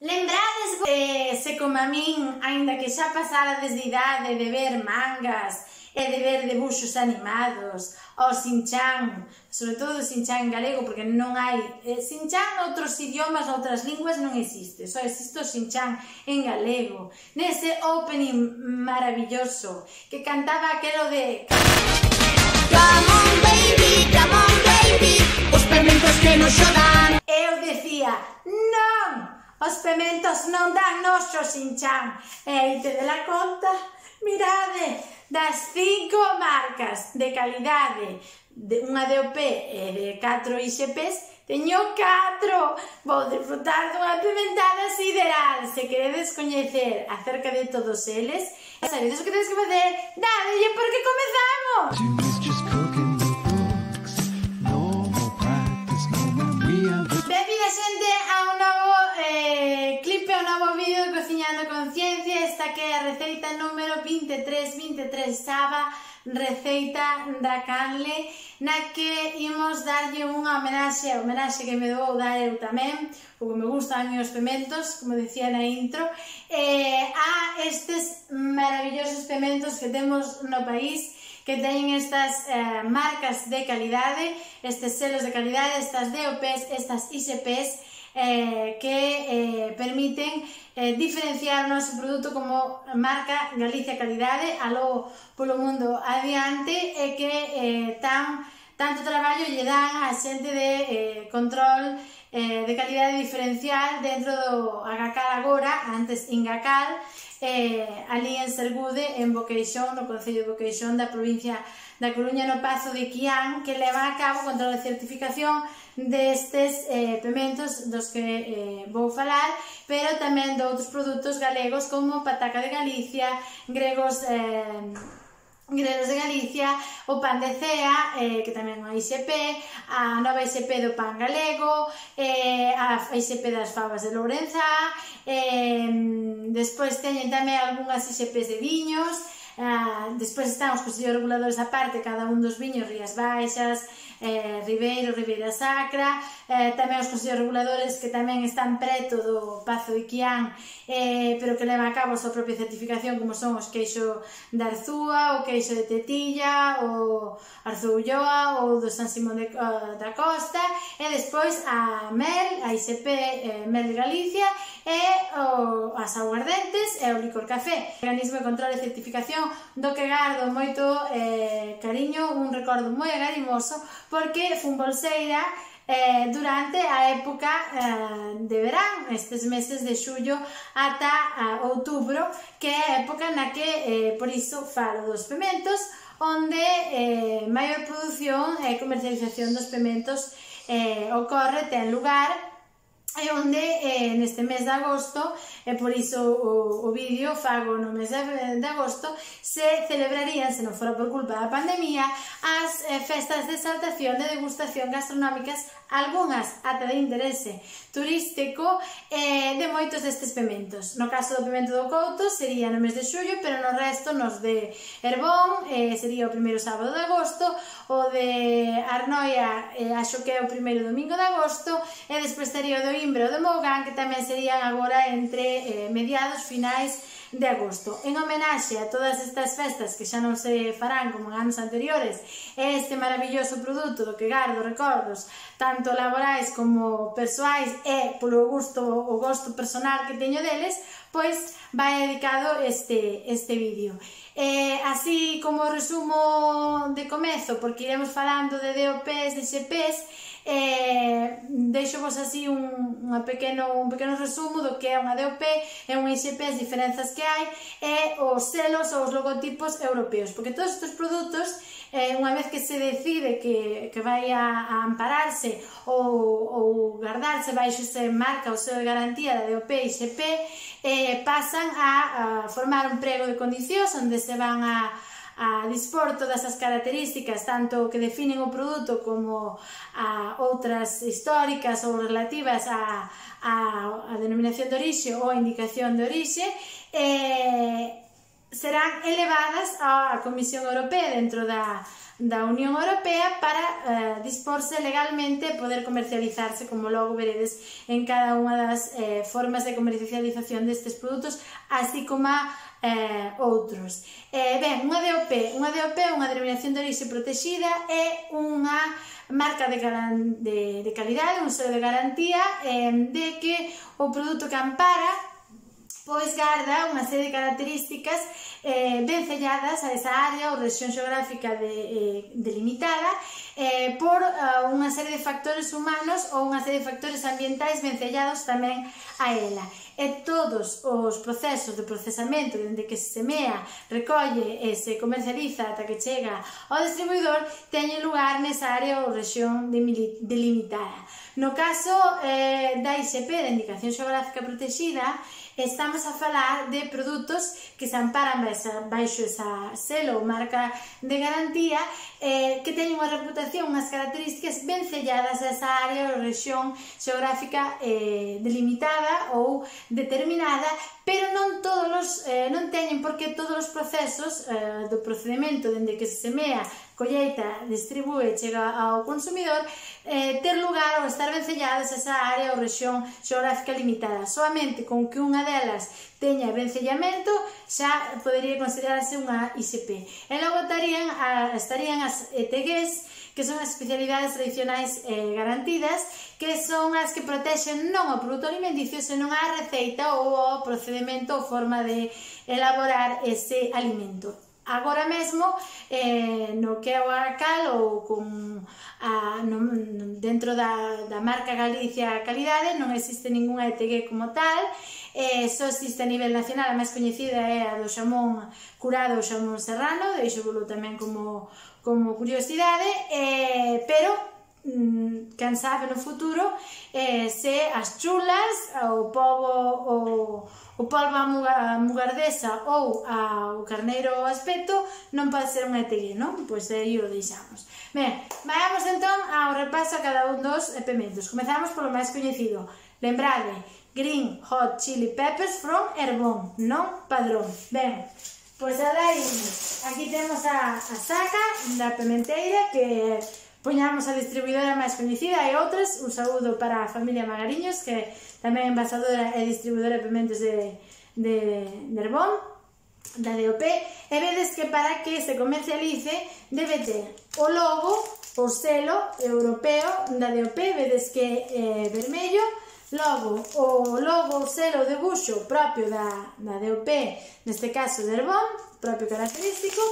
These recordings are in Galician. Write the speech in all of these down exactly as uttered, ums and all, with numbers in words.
Lembrades, eh, se como a min, aínda que xa pasara desde idade de ver mangas e de ver debuxos animados, o Shin-chan, sobre todo o Shin-chan en galego, porque non hai... Eh, Shin-chan noutros idiomas, noutras linguas non existe, só existe o Shin-chan en galego. Nese opening maravilloso que cantaba aquelo de... Come on baby, come on baby, os pementos que nos xodan. Eu decía, non! Os pementos non dan noxo, Shin-chan. E aí te de la conta, mirade, das cinco marcas de calidade, de unha D O P e de catro I X Ps, teño catro. Vou disfrutar dunha pimentada sideral. Se queredes coñecer acerca de todos eles, sabedes o que tedes que facer? Dadelle porque comezamos! Benvida xente a un novo eh, clipe, un novo vídeo de Cociñando con Ciencia. Esta que é a receita número vinte e tres, vinte e tres Saba, receita da canle, na que imos darlle unha homenaxe, a homenaxe que me vou dar eu tamén, porque me gustan os pementos, como decía na intro, eh, a estes maravillosos pementos que temos no país, que teñen estas eh, marcas de calidade, estes selos de calidade, estas D O Ps, estas I X Ps, eh, que eh, permiten eh, diferenciar o noso produto como marca Galicia Calidade aló polo mundo adiante, e que eh, tan, tanto traballo lle dan a xente de eh, control eh, de calidade diferencial dentro do Agacal agora, antes Ingacal, eh, ali en Sergude, en Boqueixón, no concello de Boqueixón da provincia da Coruña, no Pazo de Quián, que leva a cabo control de certificación destes eh, pementos dos que eh, vou falar, pero tamén de outros produtos galegos como Pataca de Galicia, Gregos eh, Gregos de Galicia, o pan de cea, eh, que tamén é unha I X P, a nova I X P do pan galego, eh, a I X P das fabas de Lourenzá, eh, despois teñen tamén algunhas I X Ps de viños, eh, despois están os consellos reguladores aparte, cada un dos viños, Rías Baixas, eh, Ribeiro, Ribeira Sacra, eh, tamén os consellos reguladores que tamén están preto do Pazo de Quián, eh, pero que leva a cabo a súa propia certificación, como son os queixo de Arzúa, o queixo de Tetilla, o Arzúa Ulloa, ou do San Simón de, uh, da Costa, e despois a Mel, a I X P eh, Mel de Galicia, e o, as aguardentes e o licor café. Organismo de control e certificación do que gardo moito eh, cariño, un recordo moi agarimoso, porque fun bolseira eh, durante a época eh, de verán, estes meses de xullo ata eh, outubro, que é a época na que, eh, por iso, falo dos pementos, onde eh, maior produción e comercialización dos pementos eh, ocorre, ten lugar, e onde eh, neste mes de agosto, e por iso o, o vídeo fago no mes de, de agosto, se celebrarían, se non fora por culpa da pandemia, as eh, festas de exaltación de degustación gastronómicas, algunhas ata de interese turístico, eh, de moitos destes pementos. No caso do pemento do Couto sería no mes de xullo, pero no resto, nos de Herbón, eh, sería o primeiro sábado de agosto, o de Arnoia, eh, axo que é o primeiro domingo de agosto, e despois estaría o do Imbro de Mougán, que tamén serían agora entre eh, mediados, finais de agosto. En homenaxe a todas estas festas que xa non se farán como en anos anteriores, este maravilloso produto do que gardo recordos tanto laborais como persoais e polo gusto, o gosto personal que teño deles, pois vai dedicado este, este vídeo. Eh, así como resumo de comezo, porque iremos falando de D O Ps, de I X Ps, eh, deixo vos así un, un, pequeno, un pequeno resumo do que é unha D O P e unha I X P, as diferenzas que hai, e os selos ou os logotipos europeos, porque todos estes produtos, eh, unha vez que se decide que, que vai a, a ampararse ou, ou guardarse baixo esa marca ou selo de garantía da D O P e I X P, eh, pasan a, a formar un prego de condicións onde se van a a dispor todas as características, tanto que definen o produto como a outras históricas ou relativas a, a, a denominación de orixe ou a indicación de orixe, eh, serán elevadas á Comisión Europea dentro da, da Unión Europea para eh, disporse legalmente e poder comercializarse, como logo veredes en cada unha das eh, formas de comercialización destes produtos, así como a eh, outros. Eh, ben, unha D O P, unha D O P é unha denominación de orixe protexida, é unha marca de, de, de calidade, un selo de garantía eh, de que o produto que ampara pois garda unha serie de características eh, vencelladas a esa área ou rexión xeográfica de, eh, delimitada eh, por uh, unha serie de factores humanos ou unha serie de factores ambientais vencellados tamén a ela. E todos os procesos de procesamento dende que se semea, recolle e se comercializa ata que chega ao distribuidor teñen lugar nesa área ou rexión delimitada. No caso eh, da I X P, da Indicación Xeográfica Protexida, estamos a falar de produtos que se amparan baixo esa selo ou marca de garantía eh, que teñen unha reputación, unhas características vencelladas a esa área ou rexión xeográfica eh, delimitada ou determinada, pero non todos os, eh, non teñen porque todos os procesos eh, do procedimento dende que se semea, colleita, distribúe e chega ao consumidor eh, ter lugar ou estar vencelladas a esa área ou rexión xeográfica limitada. Solamente con que unha delas teña vencellamento xa podería considerarse unha I X P. E logo estarían, a, estarían as E T Gs, que son as especialidades tradicionais eh, garantidas, que son as que protexen non o produto alimenticio, senón a receita ou o procedimento ou forma de elaborar ese alimento. Agora mesmo, eh, no que é o Agacal ou con a, no, dentro da, da marca Galicia Calidade non existe ninguna E T G como tal, eh, só existe a nivel nacional, a máis coñecida é a do xamón curado ou xamón serrano, deixo volo tamén como, como curiosidade, eh, pero mm, quen sabe no futuro eh, se as chulas, o pobo o, o polvo a mugardesa ou a, o carneiro ao aspecto non pode ser unha E T G, non? Pois aí o deixamos. Ben, vayamos entón ao repaso a cada un dos pementos. Comezamos polo máis coñecido. Lembrade, Green Hot Chili Peppers from Herbón, non Padrón. Ben, pois alá imos. Aquí temos a, a saca da pementeira que poñamos a distribuidora máis coñecida e outras. Un saúdo para a familia Magariños, que tamén é envasadora e distribuidora de pementos de, de, de Herbón, da D O P, e vedes que para que se comercialice debe ter o logo, o selo europeo da D O P, vedes que é vermello, logo o logo, o selo, o debuxo propio da, da D O P, neste caso de Herbón, propio característico,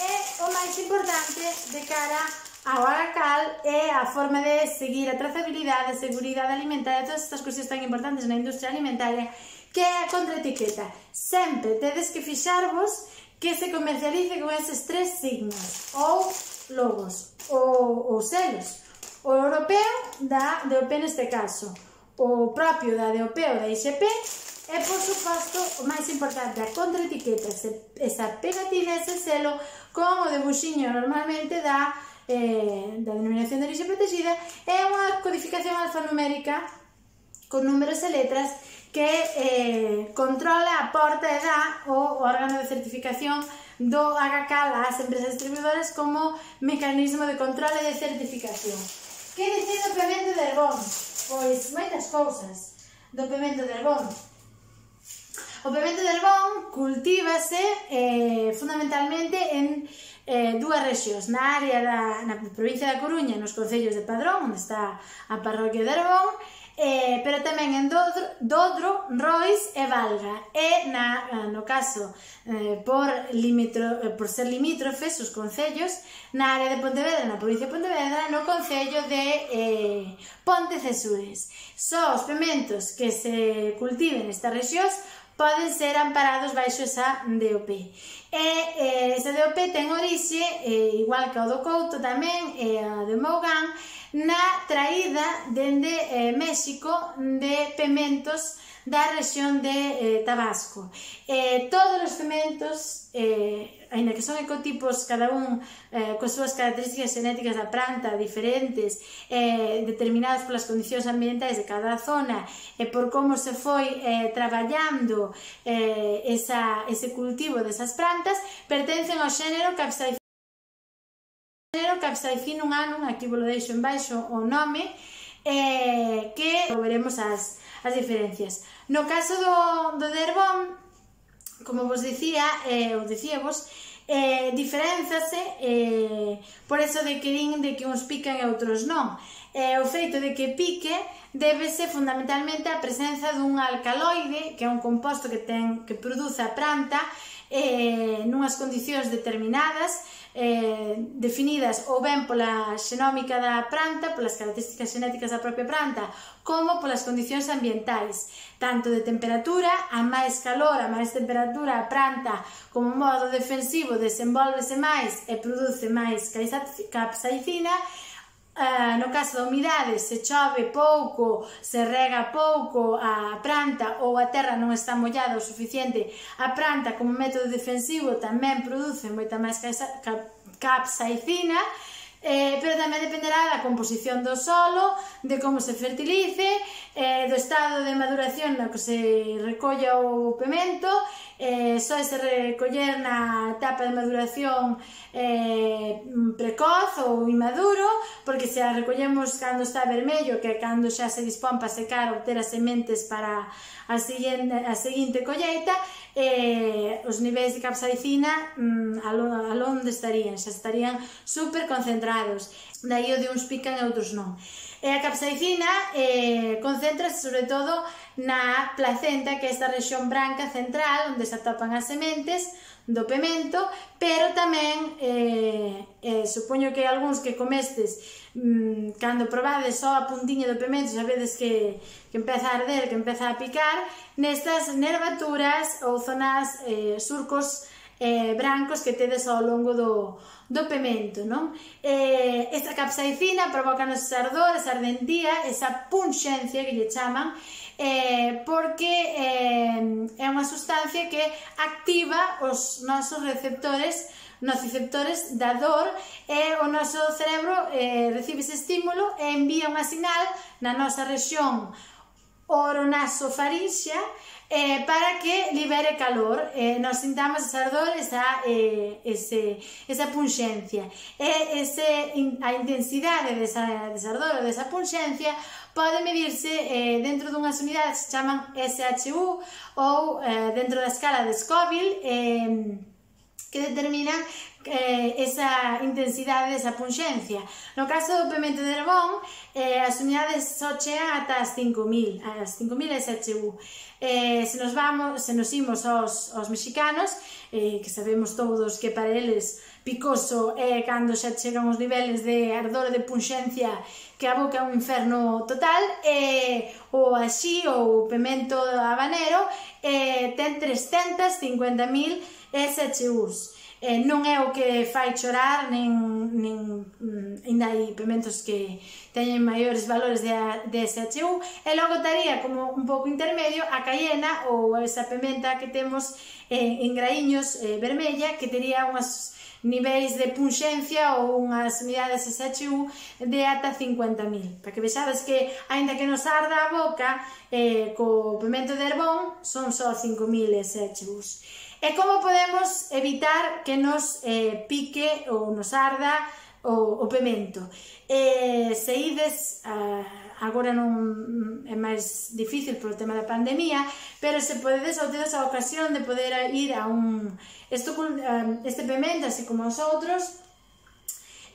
e o máis importante de cara ao Agacal é a forma de seguir a trazabilidade, a seguridade alimentaria, todas estas cousas tan importantes na industria alimentaria, que é a contraetiqueta. Sempre tedes que fixarvos que se comercialice con eses tres signos ou logos ou, ou selos. O europeo da D O P neste caso, o propio da D O P ou da I X P, e por suposto o máis importante, a contraetiqueta, esa pegatina, ese selo con o debuxiño normalmente da Eh, da denominación de orixe protegida, é unha codificación alfanumérica con números e letras que eh, controla a porta e dá o órgano de certificación do Agacal ás empresas distribuidoras como mecanismo de control e de certificación. Que dicir do pemento de Herbón? Pois moitas cousas do pemento de Herbón. O pemento de Herbón cultívase eh, fundamentalmente en Eh, dúas rexións, na área da na provincia da Coruña, nos concellos de Padrón, onde está a parroquia de Herbón, eh, pero tamén en Dodro, Dodro, Rois e Valga, e na, no caso eh, por, limitro, por ser limítrofes os concellos, na área de Pontevedra, na provincia de Pontevedra, no concello de eh, Pontecesures. Só os pementos que se cultiven nestas rexións poden ser amparados baixo esa D O P. E eh, esa D O P ten orixe, eh, igual que o do Couto tamén, e a do Mougán, na traída dende eh, México de pementos da rexión de eh, Tabasco. Eh, todos os pementos, eh, aínda que son ecotipos, cada un eh, coas súas características xenéticas da planta diferentes, eh, determinadas polas condicións ambientais de cada zona e por como se foi eh, traballando eh, esa, ese cultivo desas plantas, pertencen ao xénero Capsicum capsaicin un anum, aquí vos lo deixo en baixo o nome, eh, que veremos as, as diferencias. No caso do, do de Herbón, como vos dicía, eh, ou dicíavos, eh, diferenzase eh, por eso de que din de que uns pican e outros non. Eh, o feito de que pique débese fundamentalmente á presenza dun alcaloide, que é un composto que, ten, que produce a planta eh, nunhas condicións determinadas, eh, definidas ou ben pola xenómica da planta, polas características xenéticas da propia planta, como polas condicións ambientais, tanto de temperatura, a máis calor, a máis temperatura, a planta como modo defensivo desenvolvese máis e produce máis capsaicina. Uh, no caso da humidade, se chove pouco, se rega pouco a planta ou a terra non está mollada o suficiente, a planta como método defensivo tamén produce moita máis capsaicina, eh, pero tamén dependerá da composición do solo, de como se fertilice, eh, do estado de maduración no que se recolla o pemento. Eh, só se recoller na etapa de maduración eh, precoz ou inmaduro, porque se a recollemos cando está vermello, que é cando xa se dispón para secar ou ter as sementes para a seguinte, a seguinte colleita, eh, os niveis de capsaicina mm, alonde estarían, xa estarían super concentrados, daí o de uns pican e outros non. E a capsaicina eh, concéntrase sobre todo na placenta, que é esta rexión branca central onde se atopan as sementes do pemento, pero tamén eh, eh, supoño que algúns que comestes mmm, cando probades só a puntiña do pemento sabedes que, que empeza a arder, que empeza a picar nestas nervaturas ou zonas eh, surcos eh, brancos que tedes ao longo do, do pemento, non? Eh, esta capsaicina provoca nos ardor, esa ardentía, esa punxencia que lle chaman, eh, porque eh, é unha sustancia que activa os nosos receptores, nociceptores da dor, e o noso cerebro eh, recibe ese estímulo e envía unha sinal na nosa rexión oronasofarinxea eh, para que libere calor, eh, nos sintamos esa ardor, esa, eh, ese, esa punxencia. E ese, a intensidade desa, desa ardor ou desa punxencia pode medirse eh, dentro dunhas unidades que se chaman S H U ou eh, dentro da escala de Scoville, eh, que determinan eh, esa intensidade desa punxencia. No caso do pemento de Herbón, eh, as unidades só chegan ata as cinco mil, as cinco mil S H U. Eh, se nos vamos, se nos imos aos, aos mexicanos, eh, que sabemos todos que para eles picoso é cando xa chegan os niveles de ardor e de punxencia que a boca é un inferno total, eh, o axí, ou pemento habanero, eh, ten trescentas cincuenta mil S H Us. Eh, non é o que fai chorar, nen, nen ainda hai pementos que teñen maiores valores de, de S H U, e logo estaría como un pouco intermedio a cayena ou esa pementa que temos eh, en graíños eh, vermella, que tería unhas niveis de punxencia ou unhas unidades S H U de ata cincuenta mil, para que vexades que, aínda que nos arda a boca, eh, co pemento de Herbón son só cinco mil S H Us. E como podemos evitar que nos eh, pique ou nos arda o, o pemento? Eh, se ides, uh, agora non é máis difícil polo tema da pandemia, pero se podedes ou tedes a ocasión de poder ir a un... Esto, uh, este pemento, así como os outros,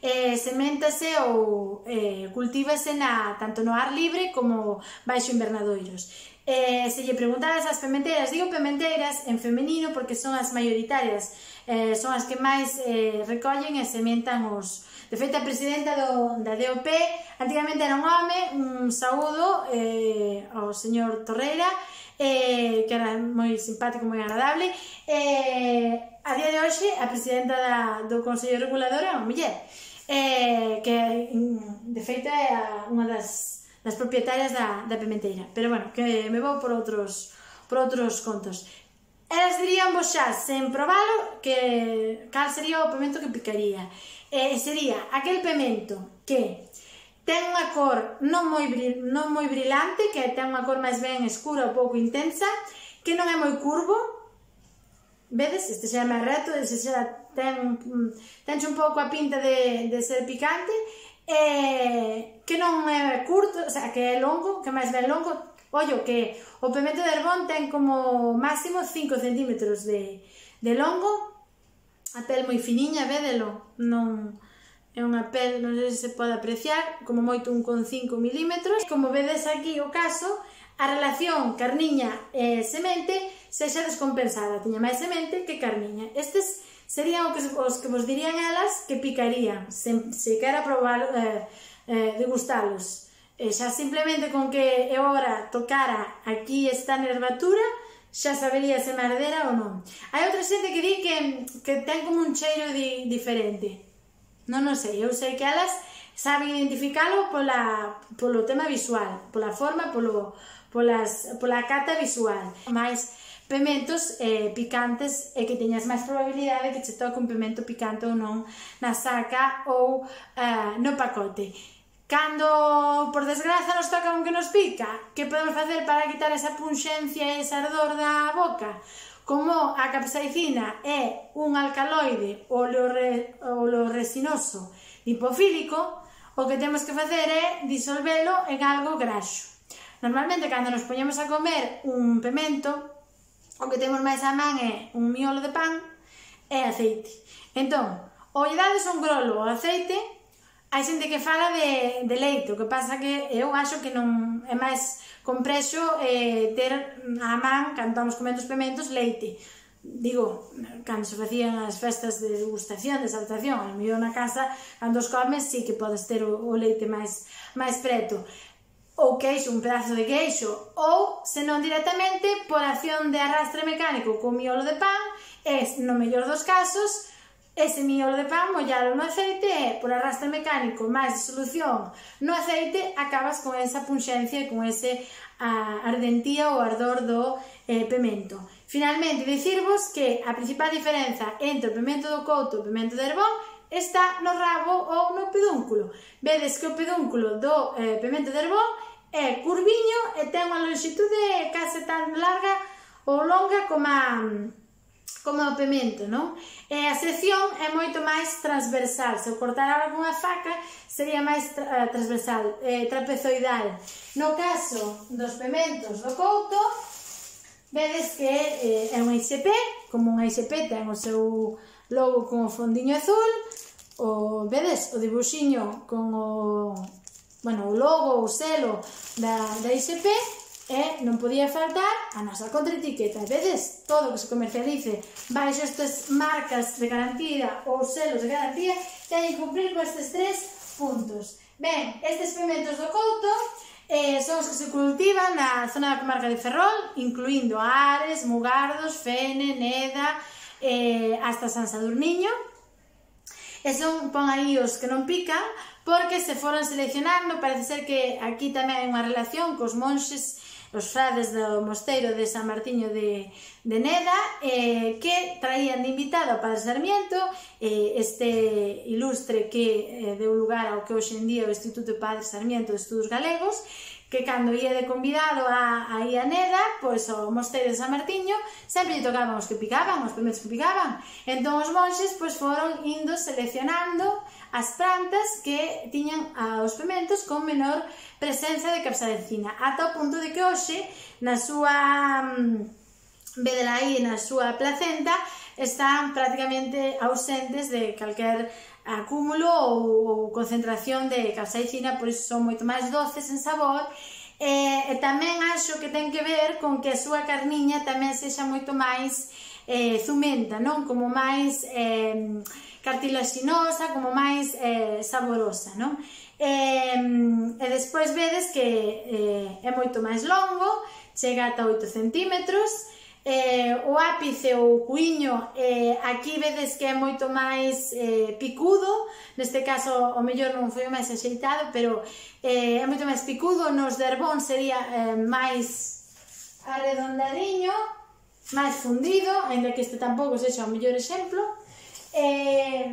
eh, seméntase ou eh, cultívase na, tanto no ar libre como baixo invernadoiros. Eh, se lle preguntades ás pementeiras, digo pementeiras en femenino porque son as maioritarias, eh, son as que máis eh, recollen e sementan os... De feito, a presidenta do, da D O P antigamente era un home, un saúdo eh, ao señor Torreira, eh, que era moi simpático, moi agradable. Eh, a día de hoxe, a presidenta da, do Consello Regulador é unha muller, eh, que de feito é unha das das propietarias da, da pementeira, pero bueno, que me vou por outros, por outros contos. Elas dirían vos xa, sen probalo, que cal sería o pemento que picaría. Eh, sería aquel pemento que ten unha cor non moi, non moi brilante, que ten unha cor máis ben escura ou pouco intensa, que non é moi curvo, vedes, este xa é máis reto, este xa ten, tenxe un pouco a pinta de, de ser picante, e que non é curto, o sea, que é longo, que máis ben longo. Ollo, que o pemento de Herbón ten como máximo cinco centímetros de, de longo, a pel moi finiña, vedelo, non é unha pel, non sei se se pode apreciar, como moito un con cinco milímetros. Como vedes aquí o caso, a relación carniña e semente sexa descompensada, tiña máis semente que carniña. Estes serían os que, os que vos dirían elas que picarían, se, se quera probar, eh, eh, degustalos. E xa simplemente con que eu ora tocara aquí esta nervatura, xa sabería se mardera ou non. Hai outra xente que di que, que ten como un cheiro di, diferente. Non non sei, eu sei que elas saben identificalo pola, polo tema visual, pola forma, polo, polas, pola cata visual. Mais pementos eh, picantes e que teñas máis probabilidade que che toque un pemento picante ou non na saca ou eh, no pacote. Cando, por desgraza, nos toca un que nos pica, que podemos facer para quitar esa punxencia e ese ardor da boca? Como a capsaicina é un alcaloide oleoresinoso lipofílico, o que temos que facer é disolvelo en algo graxo. Normalmente, cando nos poñemos a comer un pemento, o que temos máis a man é un miolo de pan e aceite. Entón, ou lle dades un grolo ao aceite, hai xente que fala de, de leite, o que pasa que eu acho que non é máis comprexo eh, ter a man, cando estamos comendo os pementos, leite. Digo, cando se facían as festas de degustación, de exaltación, ao mellor na casa, cando os comes, sí que podes ter o, o leite máis, máis preto. Ou queixo, un pedazo de queixo, ou, senón directamente, por acción de arrastre mecánico con miolo de pan, e, no mellor dos casos, ese miolo de pan mollalo no aceite e, por arrastre mecánico máis disolución no aceite, acabas con esa punxencia e con ese a, ardentía ou ardor do eh, pemento. Finalmente, dicirvos que a principal diferenza entre o pemento do couto e o pemento de Herbón está no rabo ou no pedúnculo. Vedes que o pedúnculo do eh, pemento de Herbón é curviño e ten unha longitude case tan larga ou longa como a como o pemento, non? E a sección é moito máis transversal. Se o cortar agora con unha faca, sería máis tra transversal, eh, trapezoidal. No caso dos pementos do couto, vedes que eh, é un I S P, como un I S P ten o seu logo con o fondiño azul, o, vedes, o dibuxiño con o, bueno, o logo, o selo da, da I S P, e non podía faltar a nosa contraetiqueta. Vedes, todo o que se comercialice baixo estas marcas de garantía ou selos de garantía teñen que cumprir con estes tres puntos. Ben, estes pementos do couto eh, son os que se cultivan na zona da comarca de Ferrol, incluindo Ares, Mugardos, Fene, Neda, eh, hasta San Sadurniño. E son, pon aí os que non pican, porque se foron seleccionando. Parece ser que aquí tamén hai unha relación cos monxes, os frades do mosteiro de San Martiño de, de Neda, eh, que traían de invitado ao Padre Sarmiento, eh, este ilustre que eh, deu lugar ao que hoxe en día é o Instituto Padre Sarmiento de Estudos Galegos, que cando ia de convidado a, a ir a Neda, pois ao mosteiro de San Martiño, sempre lle tocaban os que picaban, os pementos que picaban. Entón os monxes pois foron indo seleccionando as plantas que tiñan os pementos con menor presenza de capsaicina, ata o punto de que hoxe, na súa vedela aí, na súa placenta, están prácticamente ausentes de calquer acúmulo ou, ou concentración de capsaicina, por iso son moito máis doces en sabor. E, e tamén acho que ten que ver con que a súa carniña tamén sexa moito máis eh, zumenta, non? Como máis eh, cartilaxinosa, como máis eh, saborosa, non? E, e despois vedes que eh, é moito máis longo, chega ata oito centímetros. Eh, o ápice ou o cuiño, eh, aquí vedes que é moito máis eh, picudo, neste caso o mellor non foi o máis axeitado, pero eh, é moito máis picudo. Nos de Herbón sería eh, máis arredondadiño, máis fundido, ainda que este tampouco sexa o mellor exemplo. Eh,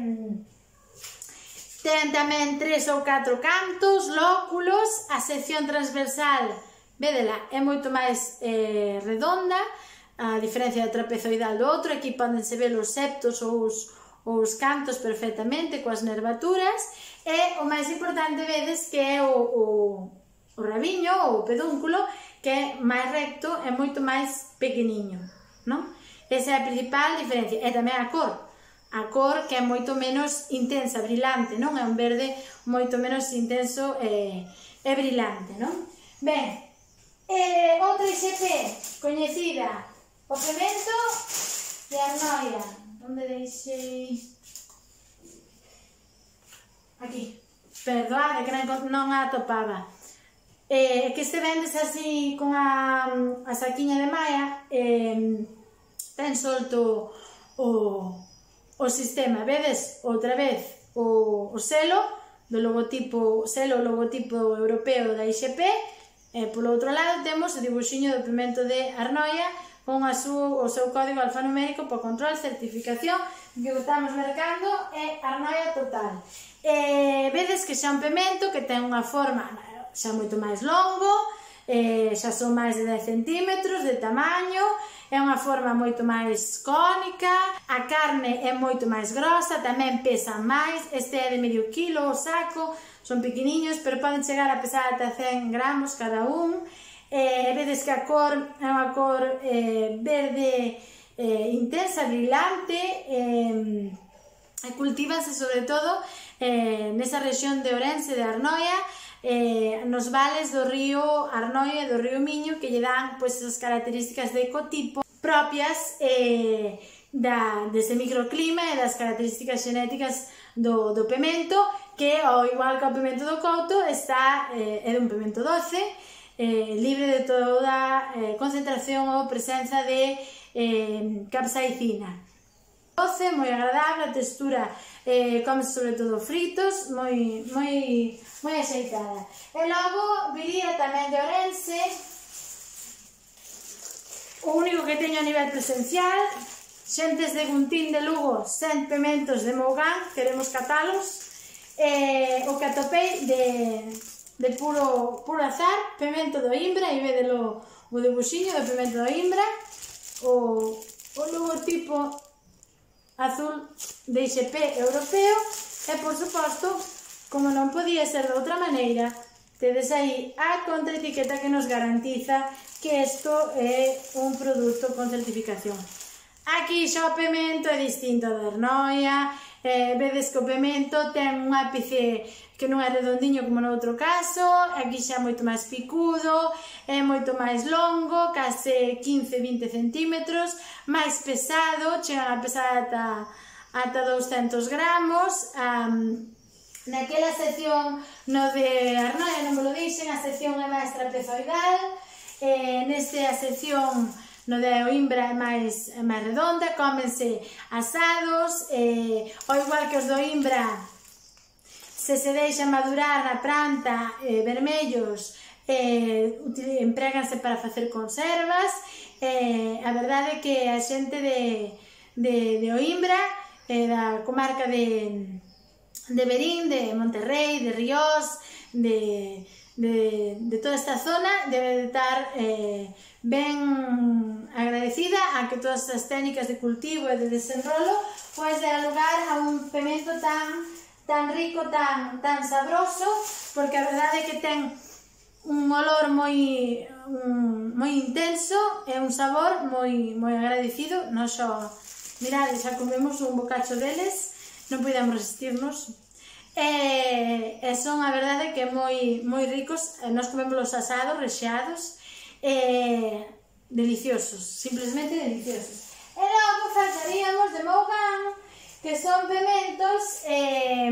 ten tamén tres ou catro cantos, lóculos, a sección transversal, vedela, é moito máis eh, redonda. a diferencia do trapezoidal do outro. Aquí podense ver os septos ou os, os cantos perfectamente coas nervaturas, e o máis importante vedes que é o, o, o rabiño ou o pedúnculo, que é máis recto e moito máis pequeniño, non? Esa é a principal diferencia, e tamén a cor, a cor que é moito menos intensa, brilante, non? É un verde moito menos intenso e, e brilante, non? Ben, eh, outra I X P coñecida, o pemento de Arnoia. Onde deixei? Aquí. Perdoade que non a atopaba. Eh, que este vendes así con a, a saquiña de malla, eh, ten solto o, o sistema. Vedes outra vez o, o selo do logotipo, selo logotipo europeo da I X P, e polo outro lado temos o dibuxiño do pemento de Arnoia con a su, o seu código alfanumérico para control, certificación, que o estamos mercando é Arnoia Total. Eh, vedes que xa é un pemento que ten unha forma xa moito máis longo, eh, xa son máis de dez centímetros de tamaño, é unha forma moito máis cónica, a carne é moito máis grosa, tamén pesa máis, este é de medio quilo o saco, son pequeniños, pero poden chegar a pesar ata cen gramos cada un. Eh, vedes que a cor é unha cor eh, verde eh, intensa, brillante, eh, e cultívanse sobre todo eh, nesa rexión de Ourense, de Arnoia, eh, nos vales do río Arnoia e do río Miño, que lle dan pois, esas características de ecotipo propias eh, da, dese microclima e das características xenéticas do, do pemento, que, ao igual que o pemento do couto, está, eh, é un pemento doce, eh, libre de toda eh, concentración ou presenza de eh, capsaicina. Doce, moi agradable, a textura eh, come sobre todo fritos, moi, moi, moi axeitada. E logo viría tamén de Ourense, o único que teño a nivel presencial, xentes de Guntín de Lugo, sen pementos de Mougán, queremos catalos, eh, o que atopei de, de puro, puro azar, pemento do Imbra, e vedelo o dibuxiño do pemento do Imbra, o, o logotipo azul de I X P europeo, e por suposto, como non podía ser de outra maneira, tedes aí a contraetiqueta que nos garantiza que isto é un produto con certificación. Aquí xa o pemento é distinto da Arnoia, eh, vedes que o pemento ten un ápice que non é redondiño como no outro caso, aquí xa é moito máis picudo, é moito máis longo, case quince a vinte centímetros, máis pesado, chegan a pesar ata, ata douscentos gramos. Um, naquela sección no de Arnoia non me lo dixen, a sección é máis trapezoidal, eh, neste a sección no de Oimbra é máis, é máis redonda, cómense asados, eh, ao igual que os do Oimbra, se se deixa madurar na planta eh, vermellos, eh, empréganse para facer conservas. Eh, a verdade é que a xente de, de, de Oimbra, eh, da comarca de, de Verín, de Monterrey, de Ríos, de, de, de toda esta zona, debe de estar eh, ben agradecida a que todas as técnicas de cultivo e de desenrolo pois dar lugar a un pemento tan, tan rico, tan, tan sabroso, porque a verdade é que ten un olor moi, un, moi intenso e un sabor moi, moi agradecido. Nos xo, mirade, xa comemos un bocacho deles, non podemos resistirnos. E, e son a verdade que moi, moi ricos, nos comemos los asados, rexeados, e deliciosos, simplemente deliciosos. E logo faltaríamos de Mougán, que son pementos eh,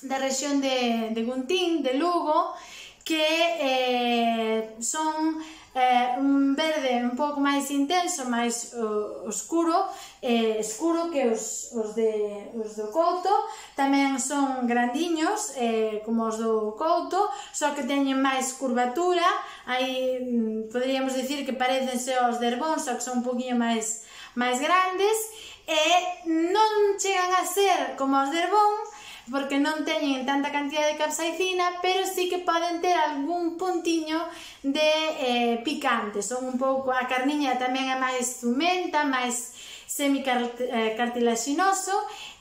da rexión de, de Guntín, de Lugo, que eh, son eh, un verde un pouco máis intenso, máis uh, oscuro, eh, escuro que os, os, de, os do couto. Tamén son grandiños, eh, como os do couto, só que teñen máis curvatura. Aí mm, poderíamos dicir que parecense aos de Herbón, só que son un poquinho máis, máis grandes, e non chegan a ser como os de Herbón, porque non teñen tanta cantidad de capsaicina, pero sí que poden ter algún puntiño de eh, picante. Son un pouco, a carniña tamén é máis zumenta, máis semicartilaginoso,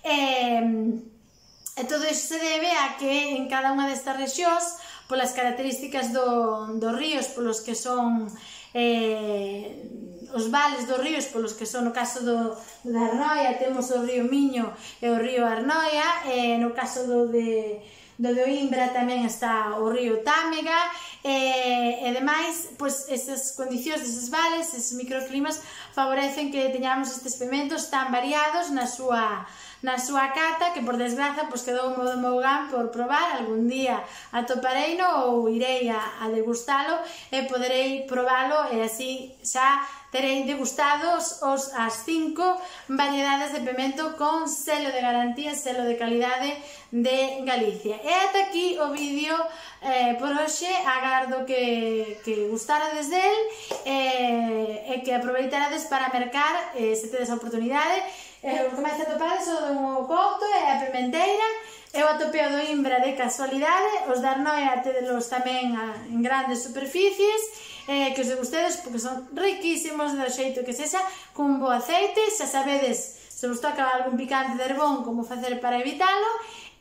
e, e todo iso se debe a que en cada unha destas rexións, polas características do, dos ríos, polos que son eh, os vales dos ríos, polos que son, no caso do, da Arnoia, temos o río Miño e o río Arnoia, e no caso do de, do de Oimbra tamén está o río Támega, e, e demais, pois, esas condicións deses vales, eses microclimas, favorecen que teñamos estes pimentos tan variados na súa na súa cata, que por desgraza pois quedou o do meu gan por probar. Algún día atopareino ou irei a, a degustalo e poderei probalo, e así xa terei degustados os, as cinco variedades de pimento con selo de garantía, selo de calidade de Galicia. E ata aquí o vídeo eh, por hoxe. Agardo que, que gustarades del eh, e que aproveitarades para mercar, eh, se tedes a oportunidade. Eh, o que máis atopades o do couto e a pimenteira. Eu atopei o do Imbra de casualidade, os da Arnoia tedelos tamén a, en grandes superficies, eh, que os degustedes porque son riquísimos do xeito que sexa, cun bo aceite. Xa sabedes, se vos toca algún picante de herbón, como facer para evitalo.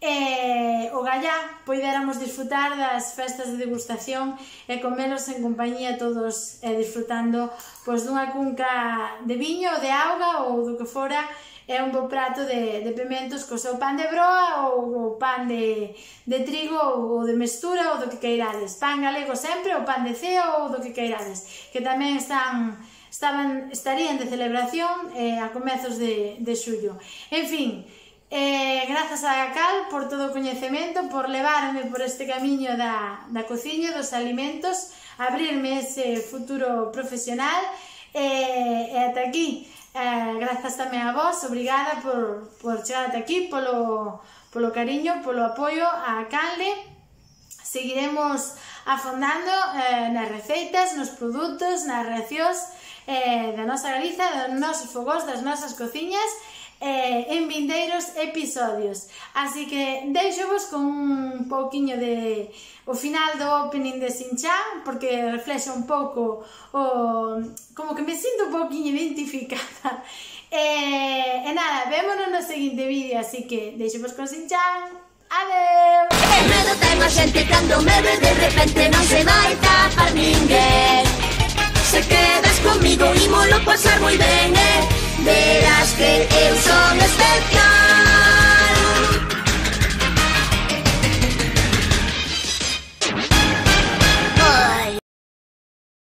E o gallá poidéramos disfrutar das festas de degustación e comelos en compañía todos, e disfrutando pois dunha cunca de viño ou de auga ou do que fora. É un bo prato de, de pimentos co seu pan de broa ou o pan de, de trigo ou de mestura ou do que queirades. Pan galego sempre, ou pan de ceo ou do que queirades, que tamén están, estaban, estarían de celebración eh, a comezos de, de xullo. En fin, eh, grazas a Cal por todo o coñecemento, por levarme por este camiño da, da cociña, dos alimentos, abrirme ese futuro profesional, eh, e ata aquí. Eh, grazas tamén a vos, obrigada por, por chegar ata aquí, polo, polo cariño, polo apoio a Canle. Seguiremos afondando eh, nas receitas, nos produtos, nas reaccións eh, da nosa Galiza, dos nosos fogós, das nosas cociñas, eh, en vindeiros episodios. Así que deixo-vos con un pouquiño de o final do opening de Shin-chan, porque reflexa un pouco o, como que me sinto un pouquiño identificada. E, e nada, vémonos no seguinte vídeo, así que deixo-vos con Shin-chan. Adeu! Medo ten a xente cando me ve de repente, non se vai tapar ninguén. Se quedas comigo ímolo pasar moi ben, eh? Verás que eu son especial.